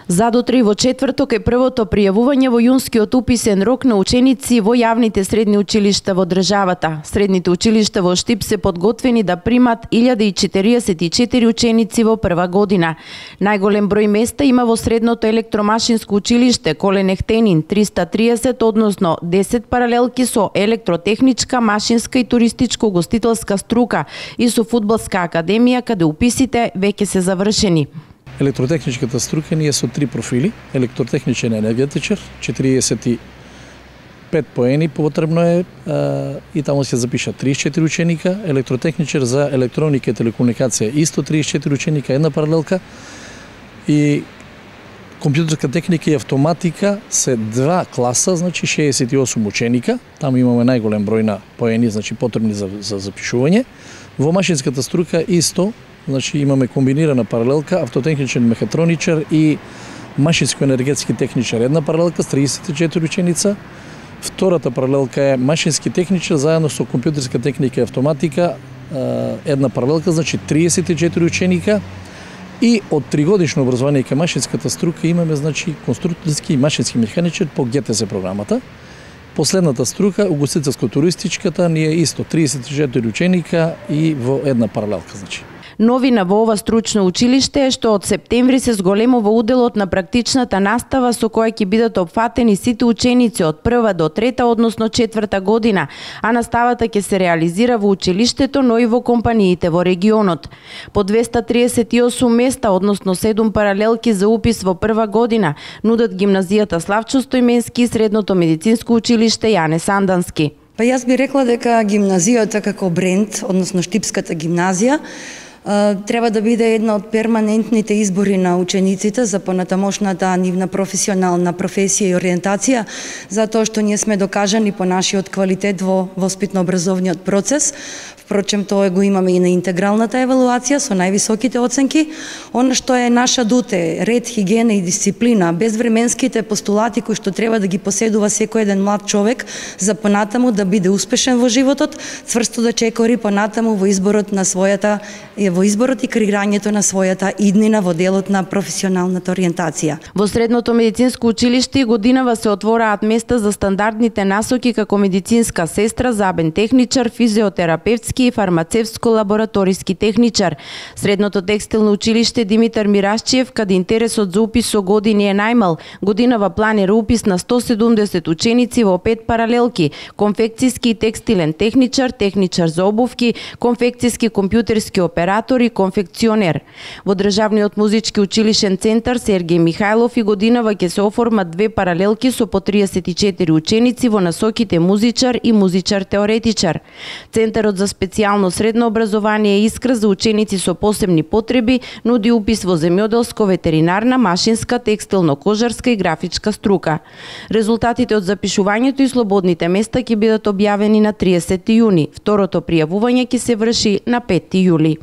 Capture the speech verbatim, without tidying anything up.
Задутре во четврток е првото пријавување во јунскиот уписен рок на ученици во јавните средни училишта во државата. Средните училишта во Штип се подготвени да примат илјада и четириесет и четири ученици во прва година. Најголем број места има во средното електромашинско училиште Колен Ехтенин триста триесет, односно десет паралелки со електротехничка, машинска и туристичко-гостителска струка и со фудбалска академија каде уписите веќе се завршени. Електротехничката струка ние со три профили, електротехничен енергетичар, четириесет и пет поени потребно е а, и таму се запишат триесет и четири ученика, електротехничар за електроника и телекомуникација исто триесет и четири ученика, една паралелка и компјутерска техника и автоматика се два класа, значи шеесет и осум ученика, таму имаме најголем број на поени, значи потребни за, за запишување. Во машинската струка исто, значи имаме комбинирана паралелка, автотехничен мехатроничар и машинско-енергетски техничар, една паралелка с триесет и четири ученица. Втората паралелка е машински техничар заедно со компјутерска техника и автоматика, една паралелка, значи триесет и четири ученика. И од тригодишно образование кај машинската струка имаме, значи, конструкторски и машински механичар по Г Т С програмата. Последната струка, угостителско-туристичката, ни е исто триесет и четири ученика и во една паралелка, значи. Новина во ова стручно училиште е што од септември се зголемува уделот на практичната настава со која ќе бидат опфатени сите ученици од прва до трета, односно четврта година, а наставата ќе се реализира во училиштето, но и во компаниите во регионот. По двеста триесет и осум места, односно седум паралелки за упис во прва година, нудат гимназијата Славчо Стојменски и средното медицинско училиште Јане Сандански. Па јас би рекла дека гимназијата како бренд, односно Штипската гимназија, треба да биде една од перманентните избори на учениците за понатамошната нивна професионална професија и ориентација, затоа што ние сме докажани по нашиот квалитет во воспитно-образовниот процес. Впрочем, тоа го имаме и на интегралната евалуација со највисоките оценки. Она што е наша дуте, ред, хигиена и дисциплина, безвременските постулати кои што треба да ги поседува секој еден млад човек за понатаму да биде успешен во животот, цврсто да чекори понатаму во изборот на својата во изборот и креирањето на својата иднина во делот на професионалната ориентација. Во средното медицинско училиште годинава се отвораат места за стандардните насоки како медицинска сестра, забен техничар, физиотерапевтски и фармацевско-лабораториски техничар. Средното текстилно училиште Димитар Мирашчиев, каде интересот за упис со години е најмал, годинава планира упис на сто седумдесет ученици во пет паралелки: конфекцијски и текстилен техничар, техничар за обувки, конфекцијски компјутерски оператор и конфекционер. Во Државниот музички училишен центар Сергеј Михајлов и годинава ќе се оформат две паралелки со по триесет и четири ученици во насоките музичар и музичар-теоретичар. Центарот за специјално средно образование Искра за ученици со посебни потреби нуди упис во земјоделско, ветеринарна, машинска, текстилно-кожарска и графичка струка. Резултатите од запишувањето и слободните места ќе бидат објавени на триесети јуни. Второто пријавување ќе се врши на петти јули.